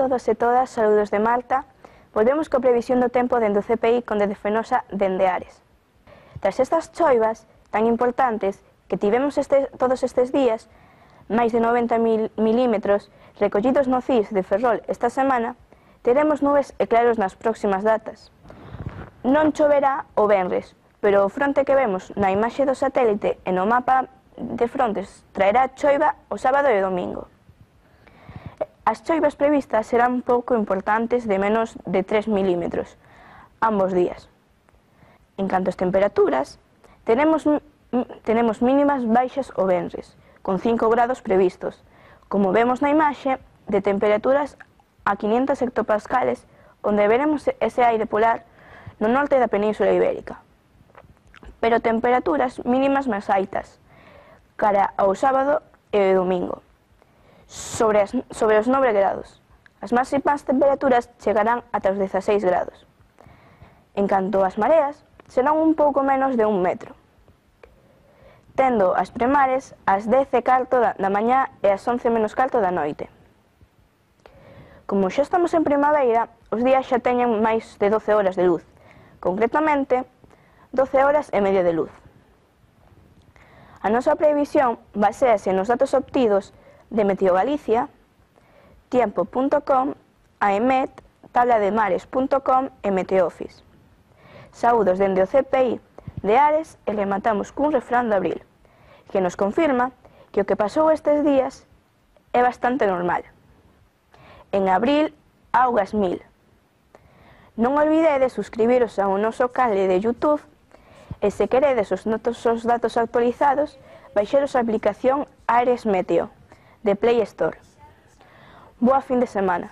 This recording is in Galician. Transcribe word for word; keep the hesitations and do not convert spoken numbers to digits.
todos e todas, saludos de Malta. Volvemos coa previsión do tempo dende o C P I con Dede Fenosa dende Ares. Tras estas choivas tan importantes que tivemos este, todos estes días, máis de noventa milímetros recollidos no C I S de Ferrol esta semana, teremos nubes e claros nas próximas datas. Non choverá o venres, pero o fronte que vemos na imaxe do satélite e no mapa de frontes traerá choiva o sábado e o domingo. As choivas previstas serán pouco importantes, de menos de tres milímetros, ambos días. En canto ás temperaturas, tenemos, tenemos mínimas baixas o venres, con cinco grados previstos, como vemos na imaxe, de temperaturas a quinientos hectopascales, onde veremos ese aire polar no norte da Península Ibérica. Pero temperaturas mínimas máis altas, cara ao sábado e o domingo. Sobre, as, sobre os nove grados. As máximas temperaturas chegarán ata os dezaseis grados. En canto ás mareas, serán un pouco menos de un metro, tendo as premares ás dez e carto da, da mañá e ás once menos carto da noite. Como xa estamos en primavera, os días xa teñen máis de doce horas de luz, concretamente doce horas e media de luz. A nosa previsión baséase nos datos obtidos de Meteo Galicia, tiempo punto com, AEMET, tablademares punto com e Meteofis. Saúdos dende o C P I de Ares e rematamos cun refrán de abril, que nos confirma que o que pasou estes días é bastante normal. En abril, augas mil. Non olvidedes suscribiros ao noso canal de YouTube e se queredes os nosos datos actualizados, baixaros a aplicación Ares Meteo de Play Store. Boa fin de semana.